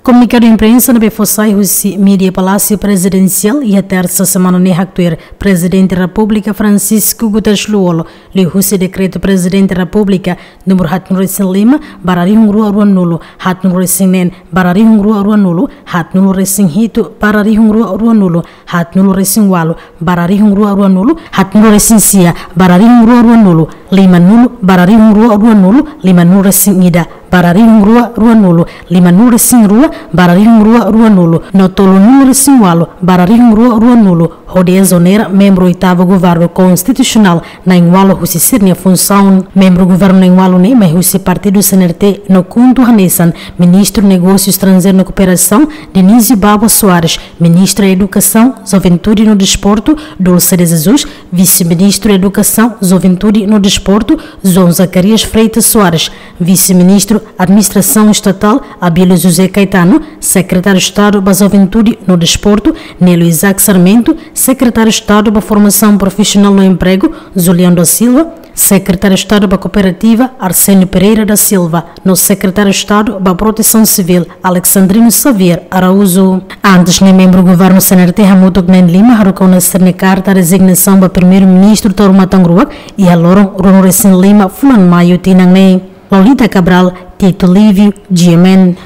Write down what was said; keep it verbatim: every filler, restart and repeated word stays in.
Komunikadu imprensa ne'ebé fó sai husi Mídia Palásiu Prezidensiál iha tersa semana ne'e haktuir Prezidente Repúblika Francisco Guterres Lú-Olo, liuhusi dekretu Prezidente Repúblika númeru haatnulu-resin-lima barra rihun rua ruanulu, haatnulu-resin-neen barra rihun rua ruanulu, haatnulu-resin-hitu barra rihun rua ruanulu, haatnulu-resin-ualu barra rihun rua ruanulu, haatnulu-resin-sia barra rihun rua ruanulu, limanulu barra rihun rua ruanulu, limanulu-resin-ida barra rihun rua ruanulu, limanulu-resin-rua barra rihun rua ruanulu, no tolunulu-resin-ualu barra rihun rua ruanulu, hodi ezonera membru oitavu Governu Konstitusionál na'in-ualu husi sira-nia funsaun. Membru Governu na'in-ualu ne'e mai husi Partidu C N R T no KHUNTO hanesan Ministru Negósiu Estranjeiru no Kooperasaun, Dionísio Babo Soares, Ministra Edukasaun, Juventude no Desportu, Dulce de Jesus, Vise-Ministru Edukasaun, Juventude no Desportu, João Zacarias Freitas Soares, Vise-Ministru Administrasaun Estatál, Abílio José Caetano, Sekretáriu Estadu ba Juventude no Desportu, Nélio Isaac Sarmento, Sekretáriu Estadu ba Formasaun Profisionál no Empregu, Julião da Silva, Sekretáriu Estadu ba Kooperativa, Arsénio Pereira da Silva, no Sekretáriu Estadu ba Protesaun Sivíl, Alexandrino Xavier Araújo. Antes ne'e membru Governu C N R T hamutuk na'in-lima haruka ona sira-nia karta rezignasaun ba Primeiru-Ministru Taur Matan Ruak iha loron ruanulu-resin-lima fulan Maiu tinan ne'e. Lolita Cabral, Tito Livio, G M N.